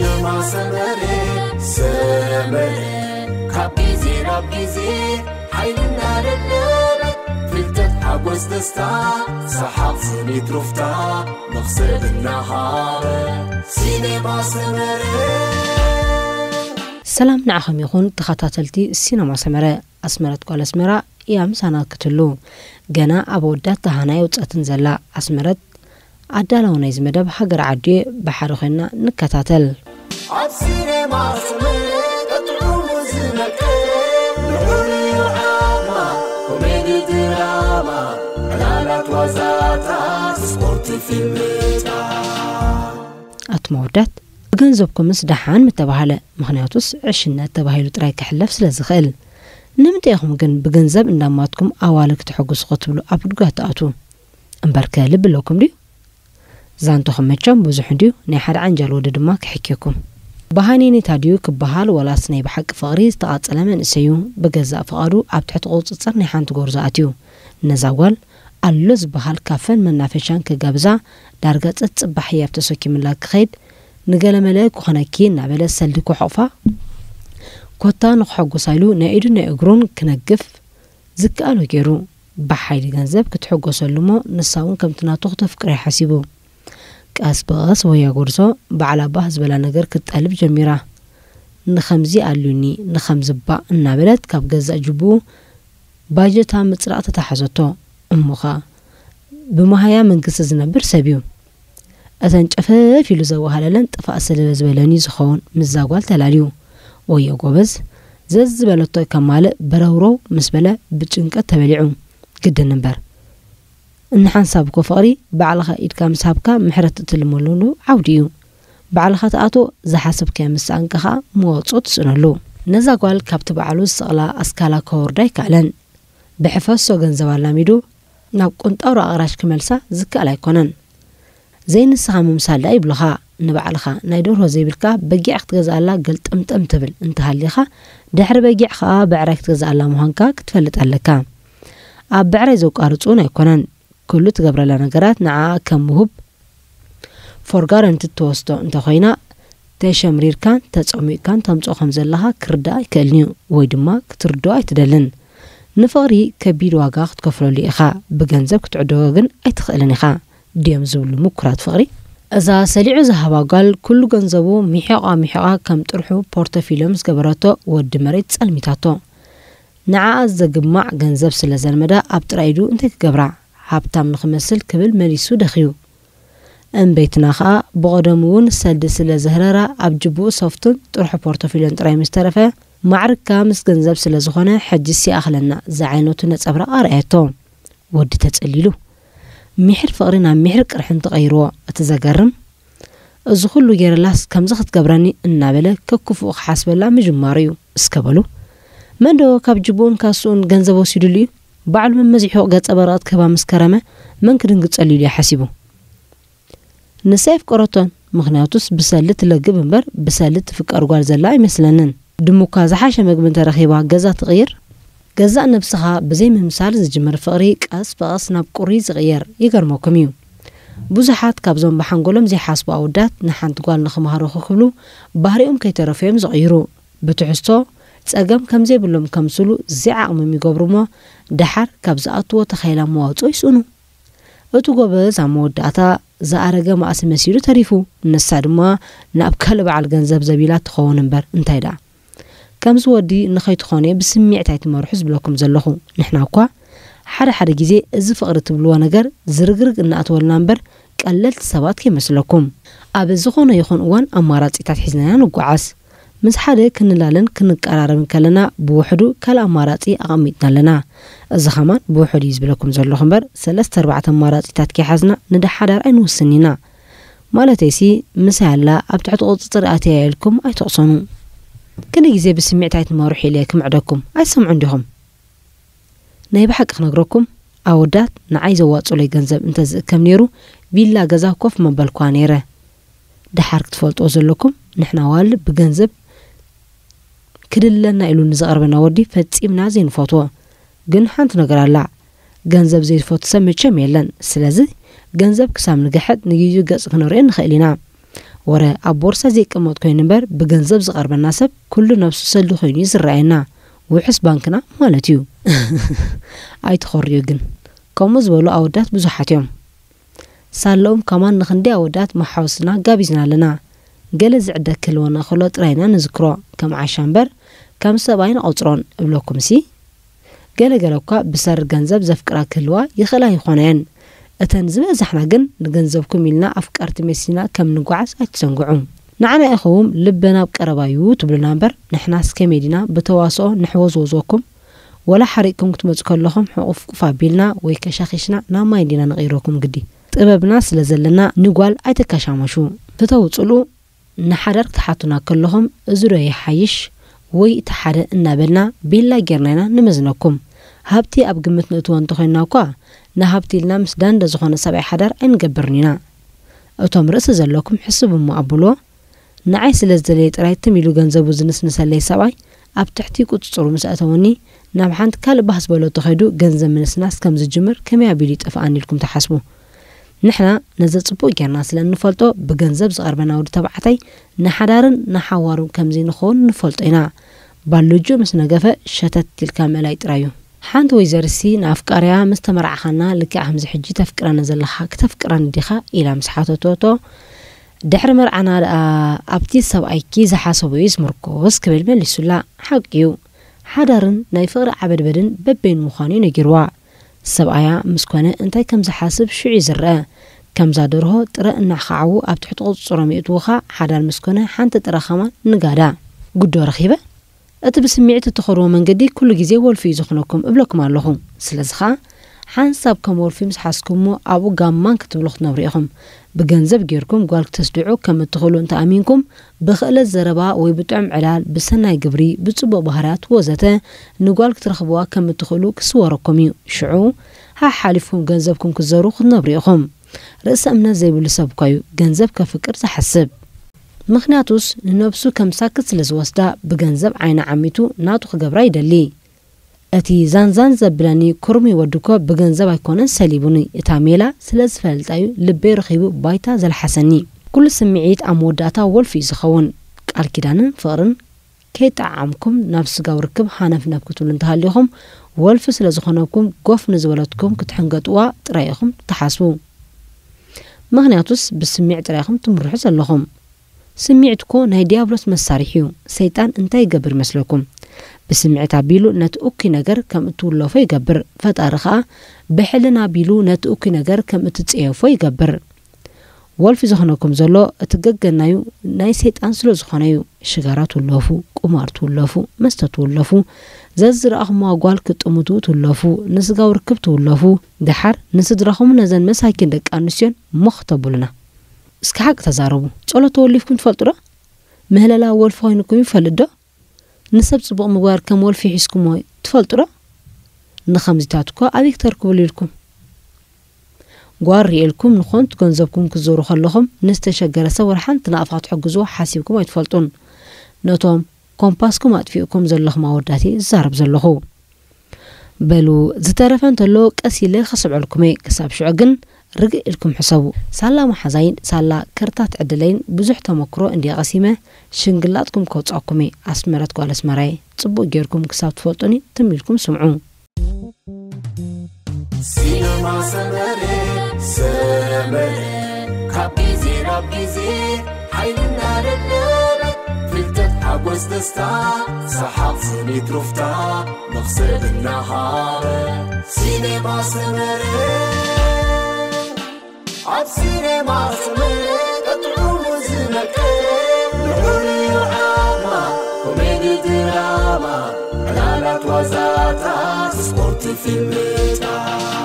ሲነማ ሰመረ፣ ሰመረ፣ ካብ ግዜ ናብ ግዜ ሓይልና ደለበ፣ ፍልጠት፣ ሓጎስ፣ ደስታ፣ ሰሓቕ፣ ስኒት፣ ሩፍታ፣ መኽሰብ እናሃበ። ሲነማ ሰመረ። ሰላም ንዓኹም ይኹን ተኸታተልቲ ሲነማ ሰመረ። ኣስመረት ጓል ኣስመራ እያ ምሳና ክትህሉ። ገና ኣብ ኣወዳት ደሃና የውጸትን ዘላ ኣስመረት ኣዳላዊ ናይዚ መደብ ሃገር ዓዲ ብሓደ ኮይና ንከታተል። ኣብ ሲኔማ ስምዒት ጥዑሙ ዝመቅር፣ ንሑር እዩ ዓቕማ፣ ኮሜዲ ድራማ፣ ዕላላት ዋዛታት፣ ስፖርት ፊልምታት። ኣቱም ኣወዳት፣ ብገንዘብኩምስ ደሓን ምተባህለ፣ ምኽንያቱስ ዕሽነት ተባሂሉ ጥራይ ክሕለፍ ስለ ዝኽእል። ንምንታይ ኢኹም ግን ብገንዘብ እንዳማትኩም ኣዋልድ ክተሐጉሱ ክትብሉ ኣብ ጉድጓድ ትኣትዉ? እምበርከ ልቢ ኣለኩም ድዩ? ዛንታኹም መቸም ብዙሕ እንድዩ፣ ናይ ሓደ ዓንጃል ወዲ ድማ ክሕክየኩም። ብሃኔኔታ ድዩ ክበሃል ወላስ ናይ ብሓቂ ፍቕሪ ዝተቓጸለ መንእሰይ እዩ? ብገዛእ ፍቓዱ ኣብ ትሕቲ ቁጽጽር ናይ ሓንቲ ጎርዞ ኣትዩ። ነዛ ጓል ኣሎ ዝበሃል ካፈን መናፈሻን ክጋብዛ ዳርጋ ጸጽባሕ ህያብ ተሰኪምላ ክኸይድ፣ ንገለመለ ክኾነኪ እናበለ ሰልዲ ክሖቕፋ፣ ኮታ ንክሐጉሳ ኢሉ ናይ ኢዱን ናይ እግሩን ክነግፍ ዝከኣሎ ገይሩ፣ ብሓይሊ ገንዘብ ክትሕጎሰሉ እሞ ንሳ እውን ከምቲ ናቱ ክተፍቅሮ እዩ ሓሲቡ። ቀስ ብቐስ ወያ ጎርዞ ባዕላ ባህ ዝበላ ነገር ክትጠልብ ጀሚራ። ንኸምዚ ኣልዩኒ፣ ንኸምዚ ባእ እናበለት ካብ ገዛእ ጅቡኡ ባጀታ ምጽራቕ ተታሓዘቶ። እሞኻ ብመሃያ መንግስቲ ዝነብር ሰብ እዩ። እተን ጨፈፍ ኢሉ ዘዋሃለለን ጥፋእ ስለ ዝበለኒ ዝኸውን ምስዛ ጓል ተላልዩ። ወዮ ጎበዝ፣ ዘዝበለቶ ከማልእ በረውረው ምስ በለ ብጭንቀት ተበሊዑ። ግድን እምበር። እንሓንሳብ እኮ ፍቕሪ ባዕልኻ ኢድካ ምስ ሃብካ ምሕረት እትልመለሉ ዓውዲ እዩ። ባዕልኻ ትኣትዎ፣ ዝሓሰብካዮ ምስ ሰኣንካ ኸኣ መዋጽኦ ትስእነሉ። ነዛ ጓል ካብቲ ባዕሉ ዝሰቕላ ኣስካላ ከወርዳ ኣይከኣለን። ብሕፈሶ ገንዘብ ኣላሚዱ ናብ ቁንጣሮ ኣቕራሽ ክመልሳ ዝከኣል ኣይኮነን። ዘይንስኻ ምምሳል ደኣ ይብሉኻ። ንባዕልኻ ናይ ደርሆ ዘይብልካ በጊዕ ክትገዝኣላ ገልጠምጠም ትብል እንተሃሊኻ፣ ድሕሪ በጊዕ ኸኣ ብዕራይ ክትገዝኣላ ምዃንካ ክትፈልጥ ኣለካ። ኣብ ብዕራይ ዘቋርጹ እውን ኣይኮነን። ኩሉ ትገብረላ ነገራት ንዓኣ ከም ውሁብ for granted ትወስዶ እንተኾይና፣ ተሸምሪርካን ተጸሚቕካን ተምጽኦ ከም ዘለኻ ክርዳእ ኣይክእልን እዩ፣ ወይ ድማ ክትርድኦ ኣይትደልን። ንፍቕሪ ከቢድ ዋጋ ክትከፍለሉ ኢኻ፣ ብገንዘብ ክትዕድጎ ግን ኣይትኽእልን ኢኻ ድዮም ዝብሉ ምኩራት ፍቕሪ? እዛ ሰሊዑ ዝሃባ ጓል ኩሉ ገንዘቡ ሚሒቓ ሚሒቓ ከም ጥርሑ ፖርቶፊልዮ ምስ ገበረቶ ወዲ መሬት ጸልሚታቶ። ንዓኣ ዘግማዕ ገንዘብ ስለ ዘልመዳ ኣብ ጥራይ ኢዱ እንታይ ክገብራ? ሃብታም ንኽመስል ክብል መሊሱ ደኽዩ። እምበይትና ኸኣ ብቐደሙ እውን ሰልዲ ስለ ዘህረራ ኣብ ጅቡኡ ሶፍቱን ጥርሑ ፖርቶፊልዮን ጥራይ ምስ ተረፈ፣ ማዕርግካ ምስ ገንዘብ ስለ ዝኾነ ሕጂስ ይኣኽለና ዝዓይነቱ ነጸብራቕ ኣርኣየቶ። ወዲ ተጸሊሉ። ሚሕር ፍቕሪ ናብ ሚሕር ቅርሕንቲ ቀይርዎ። እቲ ዘገርም፣ እዚ ኩሉ ገይረላስ ከምዚ ክትገብረኒ እናበለ ከክፉእ ክሓስበላ ምጅማሩ እዩ። እስከ በሉ፣ መን ዶ ካብ ጅቡኡን ካስኡን ገንዘብ ወሲዱሉ እዩ? ባዕሉ መመዚሑ ገጸ በረቐት ክህባ ምስ ከረመ መን ክድንግጸሉ ኢሉ እዩ ሓሲቡ? ንሳ የፍቀረቶን፣ ምኽንያቱስ ብሰሊ ትለግብ እምበር ብሰሊ ትፍቀር ጓል ዘላ ኣይመስለንን። ድሙኳ ዝሓሸ መግቢ እንተረኺባ ገዛ ትቕይር? ገዛእ ነብስኻ ብዘይ ምምሳል ዝጅምር ፍቕሪ ቀስ ብቐስ ናብ ቁሪ ዝቕየር። ይገርመኩም እዩ። ብዙሓት ካብዞም ብሓንጎሎም ዘይሓስቡ ኣወዳት ንሓንቲ ጓል ንኽምሃሩ ክብሉ ባህሪኦም ከይተረፉ እዮም ዝቕይሩ። ብትሕዝቶ ጸገም ከም ዘይብሎም ከምስሉ ዘይዓቕሞም ይገብሩ እሞ ደሓር ካብ ዝኣትዎ ተኻኢላ መዋጽኦ ይስእኑ። እቲ ጎበዝ ኣብ መወዳእታ ዝኣረገ ማእሲ መሲሉ ተሪፉ። ንሳ ድማ ናብ ካልእ በዓል ገንዘብ ዘቢላ ትኸውን እምበር እንታይ ደኣ። ከምዚ ወዲ ንኸይትኾኑ እየ ብስምዒት ኣይትመርሑ ዝብለኩም ዘለኹ። ንሕና እኳ ሓደ ሓደ ግዜ እዚ ፍቕሪ ትብልዎ ነገር ዝርግርግ እናእተወልና እምበር ቀለልቲ ሰባት ከይመስለኩም። ኣብ ዝኾነ ይኹን እዋን ኣማራጺታት ሒዝና ኢና ንጓዓዝ። ምስ ሓደ ክንላለን ክንቀራረብን ከለና ብውሕዱ ካልእ ኣማራጺ ኣቐሚጥና ኣለና። እዚ ኸማን ብውሕዱ እዩ ዝብለኩም ዘለኹ እምበር ሰለስተ ኣርባዕተ ኣማራጺታት ከይሓዝና ንደሓዳር ኣይንውስን ኢና። ማለተይሲ ምሳይ ኣላ ኣብ ትሕቲ ቁጽጽር ኣትያ ኢልኩም ኣይትቕሰኑ። ክንደይ ግዜ ብስምዒት ኣይትመርሑ ኢለ ክምዕደኩም ኣይትሰምዑን ዲኹም? ናይ ብሓቂ ክነግረኩም ኣወዳት ንዓይ ዘዋጽኡለይ ገንዘብ እንተ ዝእከብ ነይሩ ቪላ ገዛ ኮፍ መበልኳ ነይረ። ደሓር ክትፈልጥዎ ዘለኩም ንሕና ዋል ብገንዘብ ክድለና ኢሉ ንዝቐርበና ወዲ ፈጺምና ዘይንፈትዎ። ግን ሓንቲ ነገር ኣላ። ገንዘብ ዘይፈቱ ሰብ መቸም የለን። ስለዚ ገንዘብ ክሳብ ንግሕጥ ንግዩ ገጽ ክነርእዮ ንኽእል ኢና። ወረ ኣብ ቦርሳ ዘይቀመጥ ኮይኑ እምበር፣ ብገንዘብ ዝቐርበና ሰብ ኩሉ ነብሱ ሰሊ ኮይኑ እዩ ዝረኣየና። ውሑስ ባንክና ማለት እዩ። ኣይትኾርዩ ግን። ከምኡ ዝበሉ ኣወዳት ብዙሓት እዮም። ሳለኦም ከማን ንኽንደይ ኣወዳት መሓውስና ጋቢዝና ኣለና። ገለ ዝዕደ ክህልወና ከሎ ጥራይና ንዝክሮ፣ ከም ዓሻ እምበር፣ ከም ሰብኣይ ንቐጽሮን እብለኩምሲ። ገለ ገለ እኳ ብሰሪ ገንዘብ ዘፍቅራ ክህልዋ ይኽእላ ይኾና እየን። እተን ዝበዛሕና ግን ንገንዘብኩም ኢልና ኣፍቀርቲ መሲልና ከም ንጓዓዝ ኣይትዘንግዑ። ንዓና ኢኹም ልበና ኣብ ቀረባ እዩ ትብሉና እምበር፣ ንሕናስ ከመይ ዲና ብተዋስኦ ንሕወዝወዝወኩም? ወላ ሓሪቕኩም ክትመጹ ከለኹም ሕቑፍቁፍ ኣቢልና ወይ ከሻኺሽና ናብ ማይ ዲና ንቕይረኩም ግዲ። ጥበብና ስለ ዘለና ንጓል ኣይተካሻመሹ። ፍተው ጽልኡ ንሓዳር ክትሓቱና ከለኹም፣ እዚ ዶ ይሓይሽ ወይ እቲ ሓደ እናበልና ቤላ ጌርና ኢና ንመዝነኩም። ሃብቲ ኣብ ግምት ንእትዎ እንተኾይንና እኳ፣ ንሃብቲ ኢልና ምስ ዳንደ ዝኾነ ሰብኣይ ሓዳር ኣይንገብርን ኢና። እቶም ርእሲ ዘለኩም ሕስቡ እሞ ኣብልዎ። ንዓይ ስለ ዝደለየ ጥራይ ትም ኢሉ ገንዘቡ ዝንስንሰለይ ሰብኣይ ኣብ ትሕቲ ቁጽጽሩ ምስ ኣእተወኒ፣ ናብ ሓንቲ ካልእ ባህ ዝበሎ ተኸይዱ ገንዘብ ምንስናስ ከም ዝጅምር ከመይ ኣቢሉ ይጠፍኣኒ ኢልኩም ትሓስቡ? ንሕና ነዚ ጽቡቕ ጌርና ስለ እንፈልጦ፣ ብገንዘብ ዝቐርበና ወዲ ተባዕታይ ንሓዳርን ንሓዋሩን ከምዚ ንኸውን ንፈልጦ ኢና። ባልጆ ምስ ነገፈ ሸተት ኢልካ ምእላይ ጥራይ እዩ። ሓንቲ ወይዘርሲ ንኣፍቃሪያ፣ "ምስ ተመርዓኻና ልክዕ ከምዚ ሕጂ ተፍቅረኒ ዘለኻ፣ ክተፍቅረኒ ዲኻ?" ኢላ ምስ ሓተተቶ፣ ድሕሪ መርዓና ደኣ ኣብቲ ሰብኣይኪ ዝሓሰቦ እዩ ዝምርኮስ ክብል መሊሱላ። ሓቂ እዩ። ሓዳርን ናይ ፍቕሪ ዓበድበድን በበይኑ ምዃኑ እዩ ነጊርዋ። ሰብኣያ ምስ ኮነ እንታይ ከም ዝሓስብ ሽዑ እዩ ዝረአ። ከምዛ ደርሆ ጥረ እናኻዓዉ ኣብ ትሕቲ ቁጽጽሮም የእትዉኻ፣ ሓዳር ምስ ኮነ ሓንቲ ጥረ ኸማን ንጋዳ። ጉዶ ረኺበ? እቲ ብስምዒት እትኸድዎ መንገዲ ኩሉ ግዜ ወልፊ እዩ ዝኾነኩም እብለኩም ኣለኹ። ስለዚ ኸኣ ሓንሳብ ከም ወልፊ ምስ ሓዝኩሞ ኣብኡ ጋማን ክትብሉ ክትነብሩ ኢኹም። ብገንዘብ ጌርኩም ጓል ክትስድዑ ከም እትኽእሉ እንተ ኣሚንኩም፣ ብኽእለት ዘረባ ወይ ብጥዑም ዕላል፣ ብሰናይ ግብሪ፣ ብጽቡቕ ባህርያት ወዘተ ንጓል ክትረኽብዋ ከም እትኽእሉ ክስወረኩም እዩ። ሽዑ ሓሓሊፍኩም ገንዘብኩም ክትዘሩ ክትነብሩ ኢኹም። ርእሰ እምነት ዘይብሉ ሰብ እኳ እዩ ገንዘብ ከፍቅር ዝሓስብ። ምኽንያቱስ ንነብሱ ከም ሳክት ስለ ዝወስዳ ብገንዘብ ዓይና ዓሚቱ ናቱ ክገብራ ይደሊ። እቲ ዛንዛን ዘብለኒ ኩርሚ ወዲ እኮ ብገንዘብ ኣይኮነን ሰሊቡኒ፣ እታ ሜላ ስለ ዝፈልጣ እዩ ልበይ ረኺቡ ባይታ ዘልሓሰኒ። ኩሉ ስምዒት ኣብ መወዳእታ ወልፊ እዩ ዝኸውን። ቃል ኪዳንን ፍቕርን ከይጠዓዓምኩም ናብ ስጋዊ ርክብ ሃነፍነፍ ክትብሉ እንተሃሊኹም፣ ወልፊ ስለ ዝኾነኩም ጎፍ ንዝበለትኩም ክትሕንገጥዋ ጥራይ ኢኹም ትሓስቡ። ምኽንያቱስ ብስሚዕ ጥራይ ኢኹም ትምርሑ ዘለኹም። ስሚዕት እኮ ናይ ዲያብሎስ መሳርሒ እዩ። ሰይጣን እንታይ ይገብር ይመስለኩም? ብስምዒት ኣቢሉ ነቲ እኩይ ነገር ከም እትውለፎ ይገብር። ፈጣሪ ኸኣ ብሕልና ኣቢሉ ነቲ እኩይ ነገር ከም እትጸየፎ ይገብር። ወልፊ ዝኾነኩም ዘሎ እቲ ገገናዩ ናይ ሰይጣን ስለ ዝኾነ እዩ። ሽጋራ ትውለፉ፣ ቁማር ትውለፉ፣ መስተ ትውለፉ፣ ዘዝረኣኹምዋ ጓል ክትጥምቱ ትውለፉ፣ ንስጋዊ ርክብ ትውለፉ፣ ደሓር ንስድራኹምን ነዘን መሳኪን ደቂ ኣንስትዮን ሞኽ ተብሉና። እስኪ ሓቂ ተዛረቡ። ጸሎት ተወሊፍኩም ትፈልጡ ዶ? ምህለላ ወልፊ ኮይንኩም ይፈልጥ ዶ? ንሰብ ጽቡቕ ምግባር ከም ወልፊ ሒዝኩሞ ትፈልጡ ዶ? ንኸምዚታት እኮ ኣበይ ክተርክብሉ ኢልኩም? ጓር ርኤልኩም ንኾንት ገንዘብኩም ክትዞሩ ከለኹም ንዝተሸገረ ሰብ ወላ ሓንቲ ናቕፋ ክትሕግዝዎ ሓሲብኩም ኣይትፈልጡን። ነቶም ኮምፓስኩም ኣጥፊእኩም ዘለኹም ኣወዳት እየ ዝዛረብ ዘለኹ። በሉ፣ ዝተረፈ እንተሎ ቀስ ኢለ ክስዕበልኩም እየ። ክሳብ ሽዑ ግን ርግእ ኢልኩም ሕሰቡ። ሳላ መሓዛይን ሳላ ከርታት ዕድለይን ብዙሕ ተመክሮ እንድየ ቀሲመ፣ ሽንግላጥኩም ከውጻኩም እየ። ኣስመረት ጓል ኣስመራየ፣ ጽቡቕ ጌርኩም ክሳብ ትፈልጡኒ ትም ኢልኩም ስምዑ። ሲነማ ሰመረ፣ ሰመረ፣ ካብ ግዜ ናብ ግዜ ሓይልና ደለበ፣ ፍልጠት ሓጎስ ደስታ፣ ሰሓቕ ስኒት ሩፍታ፣ መኽሰብ እናሃበ። ሲነማ ሰመረ። ኣብ ሲኔማ ሰመረ ቀጥዑ ዝመቀ ልዑል እዩ ዓማ፣ ኮሜዲ ድራማ፣ ዕላላት ዋዛታት፣ ስፖርት ፊልምታት።